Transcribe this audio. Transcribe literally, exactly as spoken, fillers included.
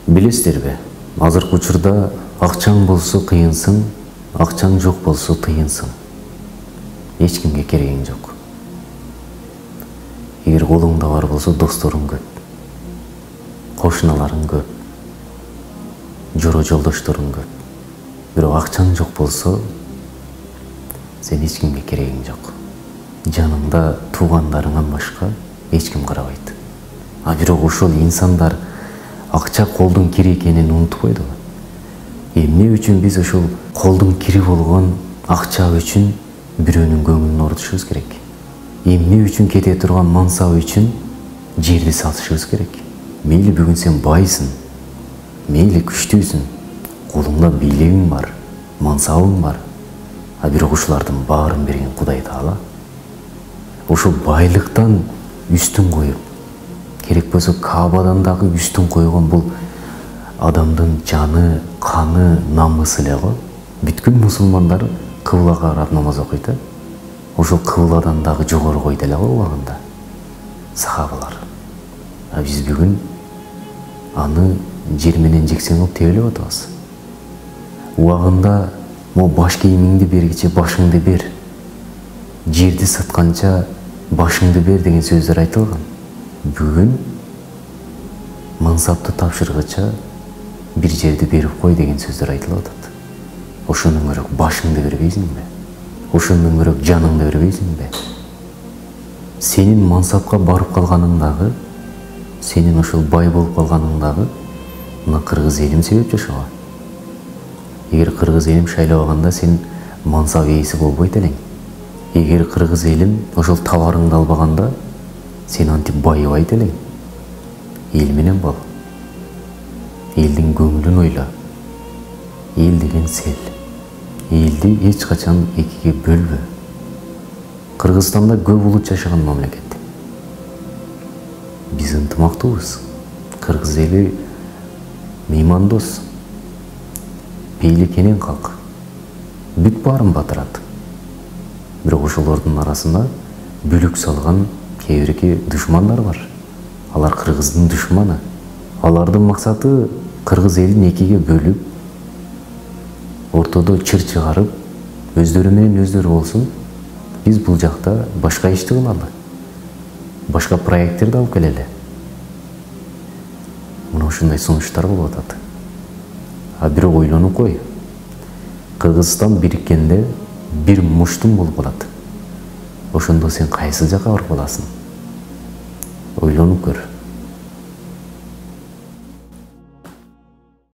Билесиздерби, азыркы учурда акчаң болсо кыйынсың, акчаң жок болсо тыйынсың. Эч кимге керегиң жок. Эгер колуңда бар болсо досторуң көп, кошуналарың көп, жора жолдошторуң көп. Бирок акчаң жок болсо, сен эч кимге керегиң жок. Жаныңда туугандарыңан башка эч ким карабайт. А бирок ошол инсандар акча колдун кири экенин унутпойду. Эмне үчүн биз ошол колдун кири болгон акча үчүн бирөөнүн көңүлүн орутушубуз керек? Эмне үчүн кете турган мансап үчүн жерди сатышыбыз керек? Мейли бүгүн сен байсың, мейли күчтүүсүң, колуңда бийлигиң бар, мансабың бар. А бирок ушулардын баарын берген Кудай Таала. Ошол байлыктан үстүн коюп, керек болсо Каабадан дагы үстүн койгон бул адамдын жаны, каны, намысы эле го. Бүткүл мусулмандар кыблага карап намаз окуйт. Ошол кыбладан дагы жогору койду эле го убагында сахабалар. А биз бүгүн аны жер менен жексен кылып тебелеп атабыз. Убагында мо баш кийимиңди бергиче башыңды бер, жерди сатканча башыңды бер деген сөздөр айтылган. Бүгүн мансапты тапшыргыча бир жерди берип кой деген сөздөр айтылып атат. Ошондон көрөк башыңды бербейсиңби? Ошондон көрөк жаныңды бербейсиңби? Сенин мансапка барып калганың дагы, сенин ошол бай болуп калганың дагы мына кыргыз элим себеп жашоо. Эгер кыргыз элим шайлабаганда сен мансап ээси болбойт элең. Эгер кыргыз элим ошол табарыңды албаганда сен антип байыбайт элең. Эл менен бол. Элдин көңүлүн ойла. Эл деген сел. Элди эч качан экиге бөлбө. Кыргызстанда көп улут жашаган мамлекет. Биз ынтымактуубуз. Кыргыз эли меймандос, бейликенен калк. Бүт баарын батырат. Бирок ошолордун арасында бүлүк салган кээ бирки душмандар бар. Алар кыргыздын душманы. Алардын максаты кыргыз элин экиге бөлүп, ортодо чыр чыгарып, өздөрү менен өздөрү болсун. Биз бул жакта башка ишти кылалы. Башка проекттерди алып келели. Мына ушундай сунуштар болуп атат. А бирок ойлонуп кой. Кыргызстан бириккенде бир муштум болуп калат. Ошондо сен кайсы жакка барып каласың? Ойлонуп көр.